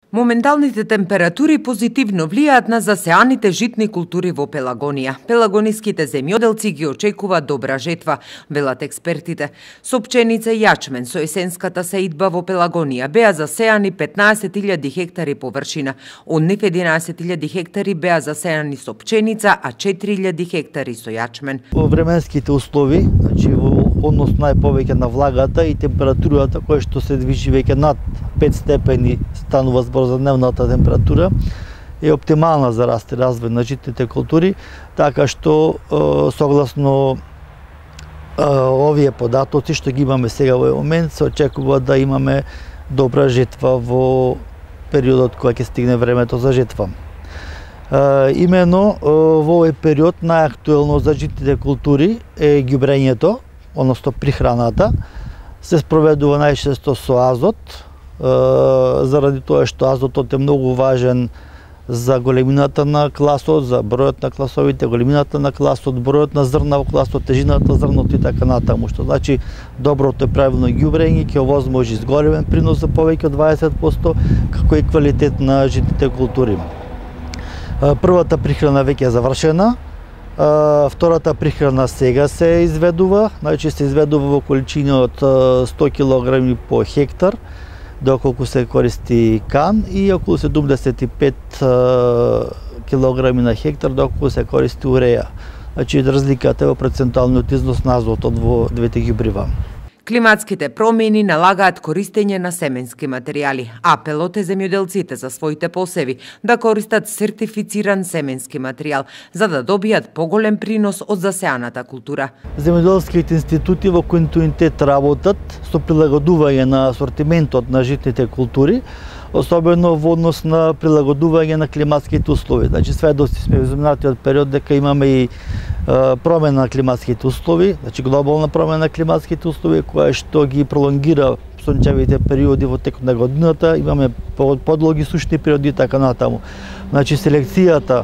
Моменталните температури позитивно влијаат на засеаните житни култури во Пелагонија. Пелагониските земјоделци ги очекуваат добра жетва, велат експертите. Со пченица и јачмен со есенската сеидба во Пелагонија беа засеани 15.000 хектари површина. Од нив 11.000 хектари беа засеани со пченица, а 4.000 хектари со јачмен. Во временските услови, значи во однос најповеќе на влагата и температурата која што се движи веќе над 5 степени, станува збор за дневната температура, е оптимална за раст и развој на житните култури, така што согласно овие податоци што ги имаме сега во момент, се очекува да имаме добра жетва во периодот кога ќе стигне времето за жетва. Имено во овој период најактуелно за житните култури е ѓубрењето, односно прихраната. Се спроведува најчесто со азот, заради тоа што азотот е многу важен за големината на класот, за бројот на класовите, големината на класот, бројот на зрна во класот, тежината зрното и така натаму, што значи доброто и правилно ѓубрење ќе овозможи зголемен принос за повеќе од 20%, како и квалитет на житните култури. Првата прихрана веќе е завршена, втората прихрана сега се изведува, значи се изведува во количини од 100 кг по хектар, доколку се користи кан, и околу 75 кг на хектар доколку се користи уреја. Значи разликата е во процентуалниот износ на азотот во двете ѓубрива. Климатските промени налагаат користење на семенски материјали. Апелот е земјоделците за своите посеви да користат сертифициран семенски материјал, за да добијат поголем принос од засеаната култура. Земјоделските институти во континуитет работат со прилагодување на асортиментот на житните култури, особено во однос на прилагодување на климатските услови. Значи сведоци сме во изминатиот период дека имаме и промена на климатските услови, значи глобална промена на климатските услови која што ги пролонгира сончевите периоди во текот на годината, имаме подлоги сушни периоди и така натаму. Значи селекцијата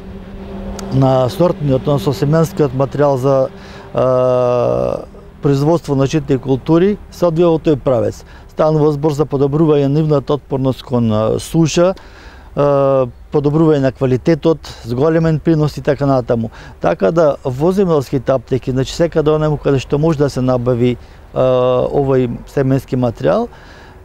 на сортниот, односно семенскиот материјал за производство на житни култури се одвива во тој правец. Станува збор за подобрување на нивната отпорност кон суша, подобрување на квалитетот, зголемен принос и така натаму. Така да во земјоделските аптеки, значи секаде онаму каде што може да се набави овој семенски материјал,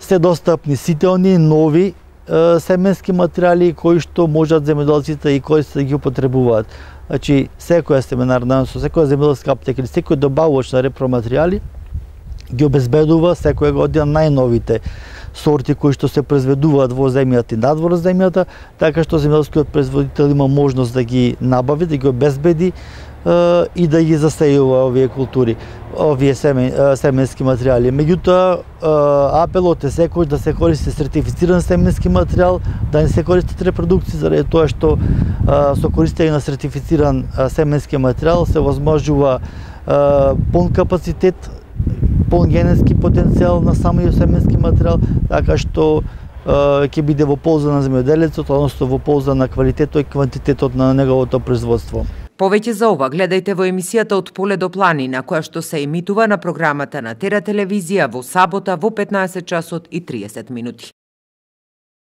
се достапни сите оние нови семенски материјали кои што можат земјоделците и користите да ги употребуваат. Значи секоја семенарна, со секоја земјоделска аптека или секој добавувач на репроматеријали ги обезбедува секоја година најновите сорти кои што се произведуваат во земјата и надвор од земјата, така што земјоделскиот производител има можност да ги набави, да ги обезбеди и да ги засејува овие култури, овие семенски материјали. Меѓутоа, апелот е секој да се користи сертифициран семенски материјал, да не се користат репродукции, заради тоа што со користење на сертифициран семенски материјал се возможува полн капацитет, полн генетски потенцијал на самиот семенски материјал, така што ќе биде во полза на земјоделецот, односно во полза на квалитетот и квантитетот на неговото производство. Повеќе за ова гледајте во емисијата Од поле до планина, која што се емитува на програмата на Тера телевизија во сабота во 15 часот и 30 минути.